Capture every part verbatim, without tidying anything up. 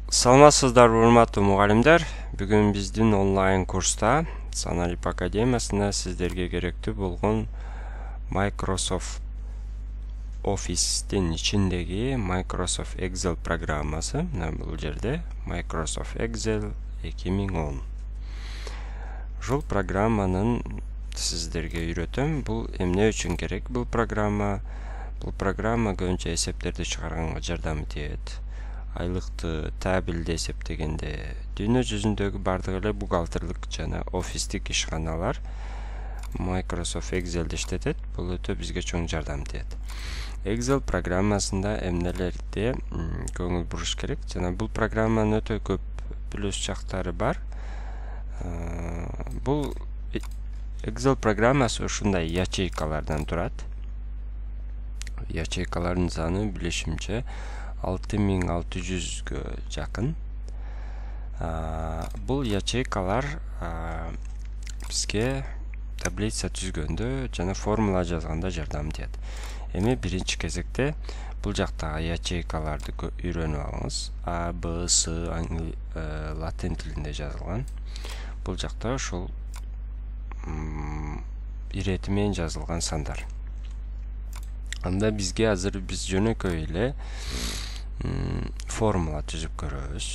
Саламатсыздарбы урматтуу мугалимдер. Бүгүн биздин онлайн курста Саналип академиясында сиздерге керектүү болгон Microsoft Office'тин ичиндеги Microsoft Excel программасы, мына бул жерде Microsoft Excel эки миң он. Ушул программанын сиздерге үйрөтөм. Бул эмне үчүн керек бул программа? Бул программа көбүнчө эсептерди чыгарганга жардам этет. Айлыкты табилде эсептегенде дүйнө жүзүндөгү бардык эле бухгалтерлик жана офистик ишканалар Microsoft Excel'ди иштетет. Бул өтө бизге чоң жардам этет. Excel программасында эмнелерди көңүл буруш керек жана бул программанын өтө көп плюс жактары бар. Бул Excel программасы ушундай ячейкалардан турат. Ячейкалардын саны билишимче алты миң алты жүзгө жакын. Бул ячейкалар бизге таблица түзгөндө жана формула жазганда жардам этет. Эми биринчи кезекте бул жактагы ячейкаларды үйрөнүп алыңыз. А, Б, С латин тилинде жазылган. Бул жакта ушул ирети менен жазылган сандар. Анда бизге азыр биз жөнөкөй эле формула түзүп көрөбүз.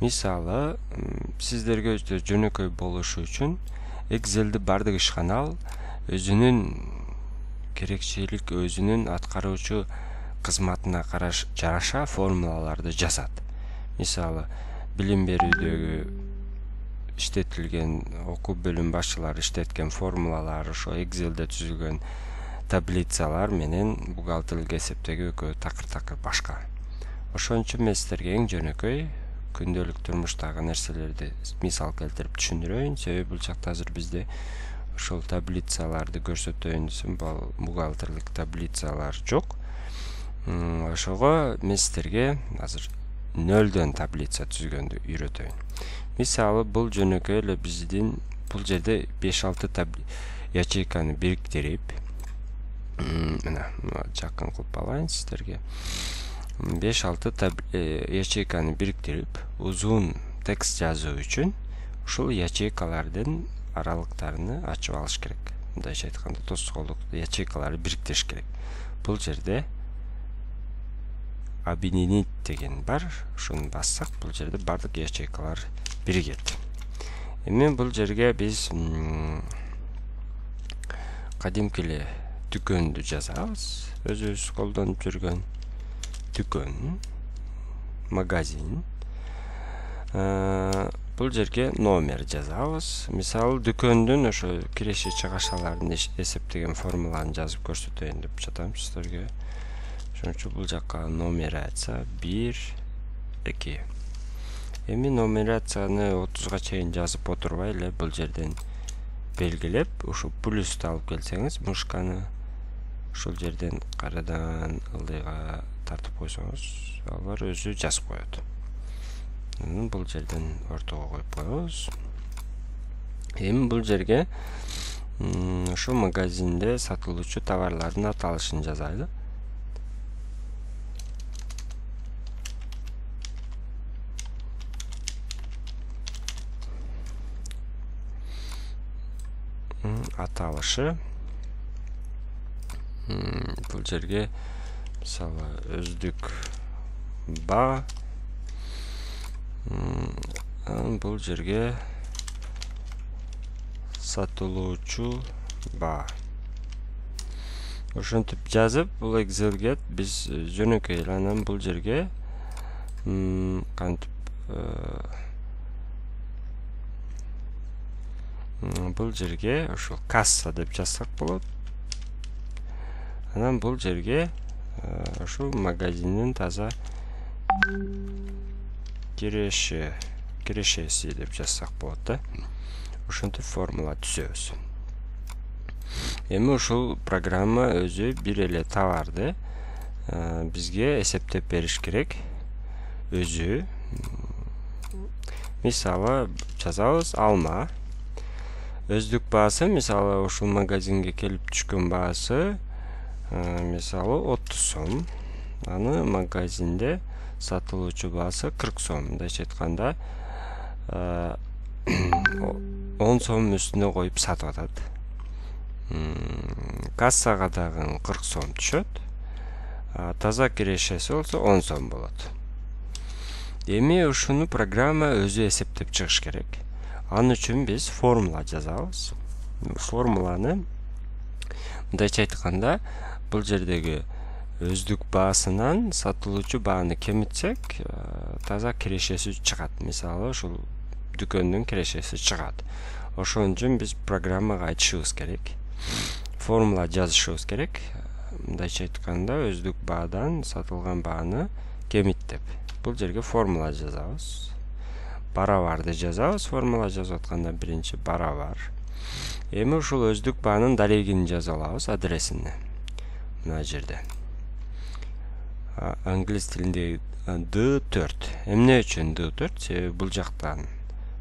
Мисалы, сиздерге жөнөкөй болушу үчүн Excel'ди бардык ишканал өзүнүн керекчилик, өзүнүн аткаруучу кызматына караш жараша формулаларды жазат. Мисалы, билим берүүдөгү иштетилген окуу бөлүм башчылары иштеткен формулалар, ошо Excel'де түзүлгөн таблицалар менен бухгалтерлик эсептеги экөө такыр-такыр башка. Ошон үчүн мен сиздерге эң жөнөкөй күндөлүк турмуштагы нерселерди мисал келтирип түшүндүрөйүн. Себеби бул жакта азыр бизде ошол таблицаларды көрсөтөйүн десем, бул бухгалтерлик таблицалар жок. Ошого мен сиздерге азыр нөлдөн таблица түзгөндү үйрөтөйүн. Мисалы, бул жөнөкөй эле биздин бул жерде беш алты ячейканы бириктирип, мына жакын кылып алайын сиздерге. беш алты ячейканы бириктирип, узун текст жазуу үчүн ушул ячейкалардын аралыктарını ачып алыш керек. Мындайча айтканда, тоскоолдук ячейкаларды бириктириш керек. Бул жерде объединить деген бар. Ушуну бассак, бул жерде бардык ячейкалар биригет. Эми бул жерге биз кадимки эле дүкөндү жазабыз. Өзүбүз колдонуп жүргөн дүкөн, магазин. Бул жерге номер жазабыз. Мисалы, дүкөндүн ошо киреше чыгашаларын эсептеген формуланы жазып көрсөтөйүн деп жатам сиздерге. Ошон үчүн бул жакка нумерация бир, эки. Эми нумерацияны отузга чейин жазып отурбай эле бул жерден белгилеп, ушул плюсту алып келсеңиз, мышканы ушул жерден карадан ылдыйга тартып койсоңуз, алар өзү жазып коет. Бул жерден ортого коюп коебуз. Эми бул жерге ошо магазинде сатылуучу товарлардын аталышын жазайлы. Аталышы. Бул жерге мисалы өздүк ба, бул жерге сатылуучу ба. Ошентип жазып, бул Excel'ге биз жөнөкөй эле анан бул жерге кантип бул жерге ошол касса деп жазсак болот. Анан бул жерге ошол магазиндин таза киреше, кирешеси деп жазсак болот да. Ошентип формула түзөбүз. Эми ушул программа өзү бир эле товарды бизге эсептеп бериш керек. Өзү. Мисалы, жазабыз алма. Өздүк баасы, мисалы, ушул магазинге келип түшкөн баасы мисалы отуз сом. Аны магазинде сатылуучу баасы кырк сом. Мындайча айтканда он сом үстүнө коюп сатып атат. Кассага дагы кырк сом түшөт. Таза кирешеси болсо он сом болот. Эми ушуну программа өзү эсептеп чыгыш керек. Ал үчүн биз формула жазабыз. Формуланы мындайча айтканда, бул жердеги өздүк баасынан сатылуучу бааны кемитсек, таза кирешеси чыгат. Мисалы, ушул дүкөндүн кирешеси чыгат. Ошон үчүн биз программага айтышыбыз керек. Формула жазышыбыз керек. Мындайча айтканда, өздүк баадан сатылган бааны кемит деп. Бул жерге формула жазабыз. Барабарды жазабыз. Формула жазып атканда биринчи барабар. Эми ушул өздүк баанын дарегин жазып алабыз, адресин. Мына жерде. Англис тилинде ди төрт. Эмне үчүн ди төрт? Себеби бул жактан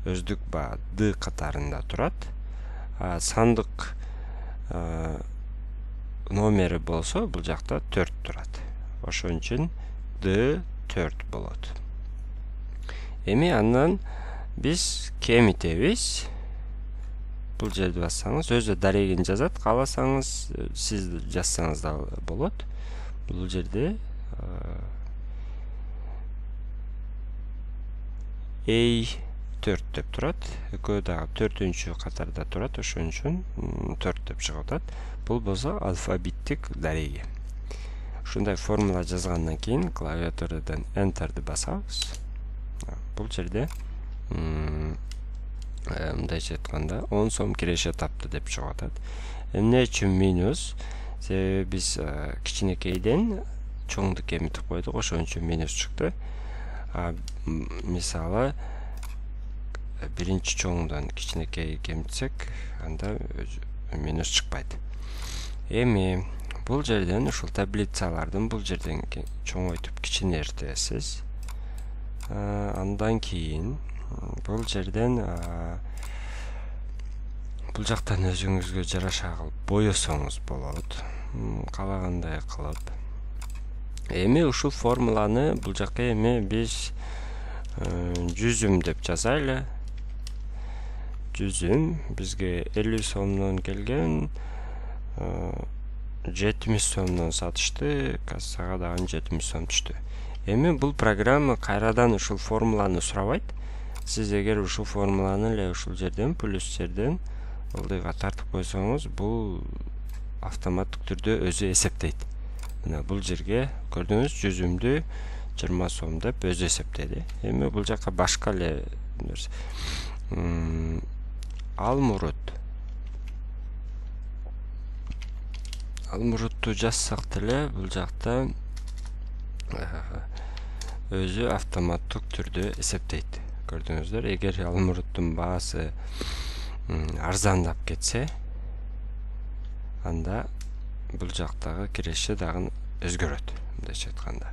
өздүк баа ди катарында турат. Сандык номери болсо бул жакта төрт турат. Ошон үчүн ди төрт болот. Эми андан биз кемитебиз. Бул жерди бассаңыз өзү дарегин жазат, кааласаңыз сиз жазсаңыз да болот. Бул жерде эй төрт деп турат. Экөө дагы төртүнчү катарда турат, ошон үчүн төрт деп чыгып атат. Бул болсо алфавиттик дареги. Ушундай формула жазгандан кийин клавиатурадан Enter'ди басабыз. Бул жерде мындайча айтканда он сом киреше тапты деп чыгып атат. Эмне үчүн минус? Себеби биз кичинекейден чоңду кемитип койдук, ошон үчүн минус чыкты. Мисалы, биринчи чоңдон кичинекей кемитсек, анда минус чыкпайт. Эми бул жерден ушул таблицалардын бул жерден чоңойтуп кичинертесиз. Андан кийин бул жерден бул жактан өзүңүзгө жараша кылып боесоңуз болот. Каалагандай кылып. Эми ушул формуланы бул жакка эми биз жүзүм деп жазайлы. Жүзүм бизге элүү сомдон келген, жетимиш сомдон сатышты, кассага дагы жетимиш сом түштү. Эми бул программа кайрадан ушул формуланы сурабайт. Сиз эгер ушул формуланы эле ушул жерден плюс жерден ылдыйга тартып койсоңуз, бул автоматтык түрдө өзү эсептейт. Мына бул жерге көрдүңүз, жүзүмдү жыйырма сом деп өзү эсептеди. Эми бул жакка башка эле Алмурут. Алмурутту жазсак деле бул жакта өзү автоматтык түрдө эсептейт. Көрдүңүздөр, эгер алмуруттун баасы арзандап кетсе, анда бул жактагы киреше дагы өзгөрөт, мындайча айтканда.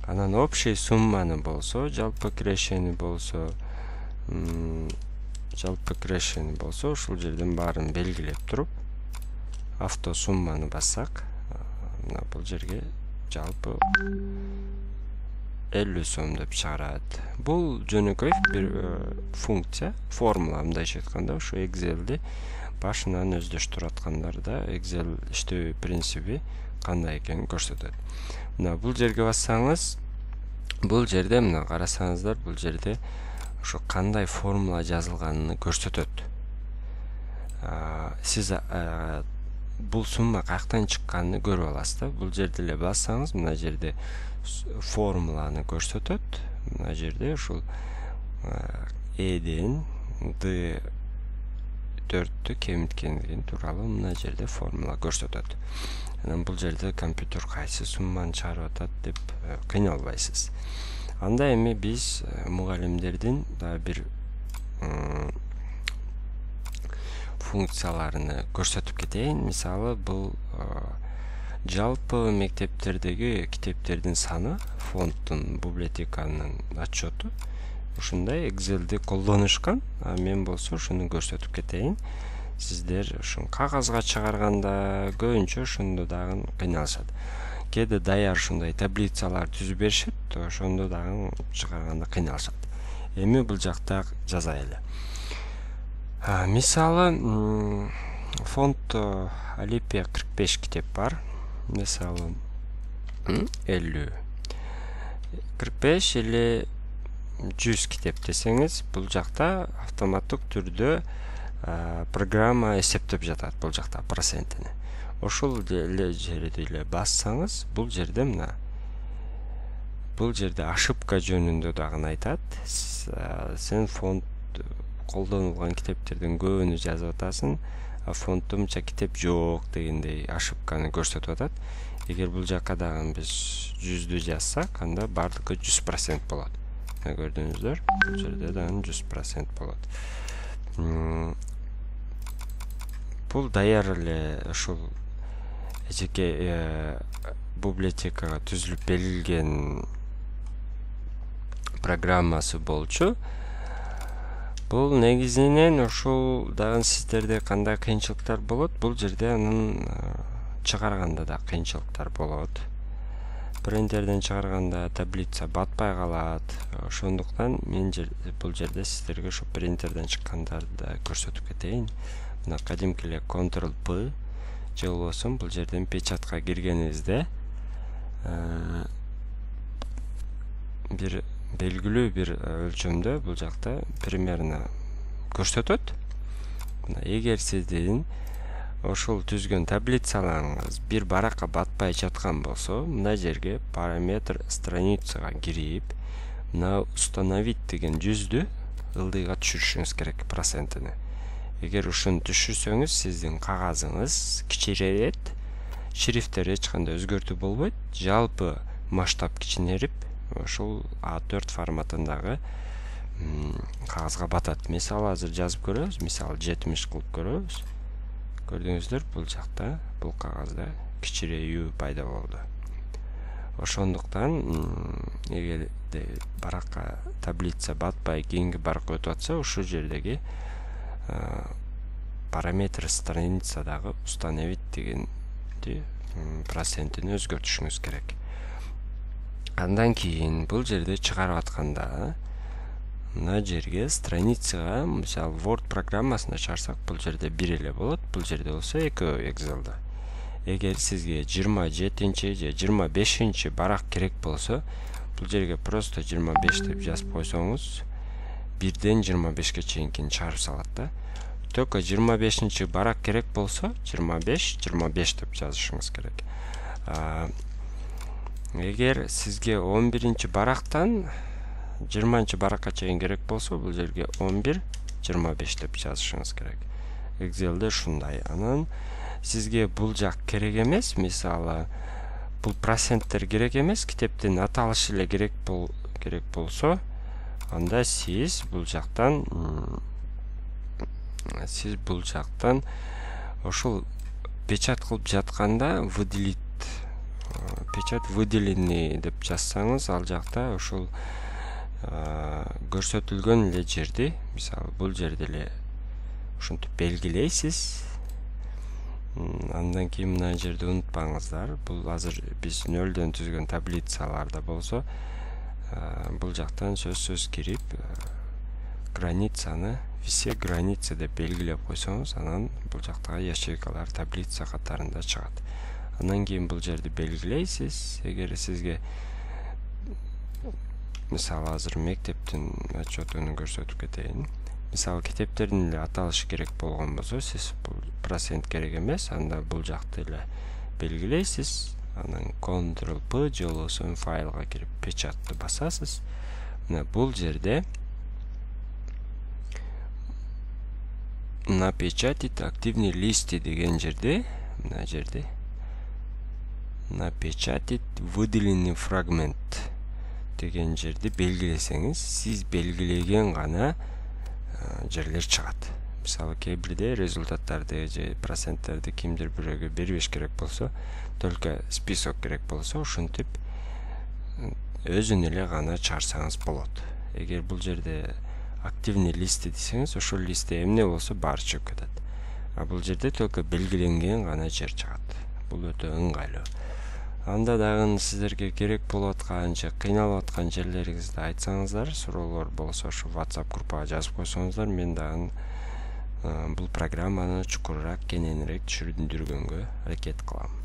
Анан общий сумманы болсо, жалпы кирешени болсо, жалпы кирешени болсо, ушул жерден баарын белгилеп туруп, авто сумманы бассак, мына бул жерге жалпы элүү сом деп чыгарат. Бул жөнөкөй бир функция, формула, мындайча айтканда, ушу Excel'ди башынан өздөштүрүп аткандарда Excel иштөө принциби кандай экенин көрсөтөт. Мына бул жерге бассаңыз, бул жерде мына карасаңыздар, бул жерде ошо кандай формула жазылганын көрсөтөт. Сиз бул сумма каяктан чыкканын көрүп аласыз да. Бул жерде эле бассаңыз, мына жерде формуланы көрсөтөт. Мына жерде ушул Эден ди төрттү кемиткендиги тууралуу мына жерде формула көрсөтөт. Анан бул жерде компьютер кайсы сумманы чыгарып атат деп кыйналбайсыз. Анда эми биз мугалимдердин да бир функцияларыны көрсөтүп кетейин. Мисалы, бул жалпы мектептердеги китептердин саны, фонддун, библиотеканын отчету. Ушундай Excel'ди колдонушкан. Мен болсо ушуну көрсөтүп кетейин. Сиздер ушун кагазга чыгарганда көбүнчө ошондо дагы кыйналышат. кээде даяр ушундай таблицалар түзүп беришет, ошондо дагы чыгарганда кыйналышат. Эми бул жакта жазайлы. Мисалы, фонд Алипия кырк беш китеп бар. Мисалы, элүү кырк беш эле жүз китеп десеңиз, бул жакта автоматтык түрдө программа эсептеп жатат бул жакта процентини. Ошол эле жерди эле бассаңыз, бул жерде мына бул жерде ошибка жөнүндө дагы айтат. Сен фонд колдонулган китептердин көбүнү жазып атасың, а фонддо мынча китеп жок дегендей ошибканы көрсөтүп атат. Эгер бул жакка дагы биз жүздү жазсак, анда бардыгы жүз процент болот. Көрдүңүздөр, бул жерде дагы жүз процент болот. Бул даяр эле ушул эжеке библиотекага түзүлүп берилген программасы болчу. Бул негизинен ушул дагы сиздерде кандай кыйынчылыктар болот, бул жерде анын чыгарганда да кыйынчылыктар болот. Принтерден чыгарганда таблица батпай калат. Ошондуктан мен бул жерде сиздерге ушу принтерден чыккандарды көрсөтүп кетейин. Мына кадимки эле контрол П же болбосо бул жерден печатка киргенибизде бир белгилүү бир өлчөмдө бул жакта примерно көрсөтөт. Мына эгер сиздин ошол түзгөн таблицаларыңыз бир баракка батпай жаткан болсо, мына жерге параметр страницага кирип, мына установить деген жүздү ылдыйга түшүрүшүңүз керек процентini. Эгер ушуну түшүрсөңүз, сиздин кагазыңыз кичирейет, шрифттер эч кандай өзгөртүү болбойт, жалпы масштаб кичинерип, ошол А төрт форматындагы кагазга батат. Мисалы азыр жазып көрөбүз, мисалы жетимиш кылып көрөбүз. Көрдүңүздөр, бул жакта бул кагазда кичиреүү пайда болду. Ошондуктан эгер баракка таблица батпай кийинки баракка өтүп атса, ушул жердеги параметр страницадагы установить дегенди процентини өзгөртүшүңүз керек. Андан кийин бул жерде чыгарып атканда мына жерге страницага, мисалы Word программасына чыгарсак, бул жерде бир эле болот, бул жерде болсо экөө Excel'да. Эгер сизге жыйырма жетинчи же жыйырма бешинчи барак керек болсо, бул жерге просто жыйырма беш деп жазып койсоңуз, бирден жыйырма бешке чейинкини чыгарып салат да. Только жыйырма бешинчи барак керек болсо, жыйырма беш жыйырма беш деп жазышыңыз керек. Эгер сизге он биринчи барактан жыйырманчы баракка чейин керек болсо, бул жерге он бир жыйырма беш деп жазышыңыз керек. Excel'де ушундай. Анан сизге бул жак керек эмес, мисалы бул проценттер керек эмес, китептин аталышы эле керек бол керек болсо, анда сиз бул жактан сиз бул жактан ошол печат кылып жатканда выделить печать выделенный деп жазсаңыз, ал жакта ошол көрсөтүлгөн эле жерди, мисалы бул жерде эле ушинтип белгилейсиз. Андан кийин мына жерде унутпаңыздар, бул азыр биз нөлдөн түзгөн таблицаларда болсо, бул жактан сөзсүз кирип границаны все границы деп белгилеп койсоңуз, анан бул жактагы ячейкалар таблица катарында чыгат. Андан кийин бул жерди белгилейсиз. Эгер сизге мисалы азыр мектептин отчетун көрсөтүп кетейин. Мисалы китептердин эле аталышы керек болгон болсо, сиз бул процент керек эмес, анда бул жакты эле белгилейсиз. Анан контрол П же болбосо файлга кирип печатты басасыз. Мына бул жерде напечатать активный листы деген жерде, мына жерде напечатать выделенный фрагмент деген жерди белгилесеңиз, сиз белгилеген гана жерлер чыгат. Мисалы кээ бирде результаттарды же проценттерди кимдир бирөөгө бербеш керек болсо, только список керек болсо, ушинтип өзүн эле гана чыгарсаңыз болот. Эгер бул жерде активный листы десеңиз, ошол листте эмне болсо баары чыгып кетет. А бул жерде только белгиленген гана жер чыгат. Бул өтө ыңгайлуу. Анда дагы сиздерге керек болуп аткан же кыйналып аткан жерлериңизди айтсаңыздар, суроолор болсо ушу WhatsApp группага жазып койсоңуздар, мен дагы бул программаны чукурураак, кененирээк түшүндүргөнгө аракет кылам.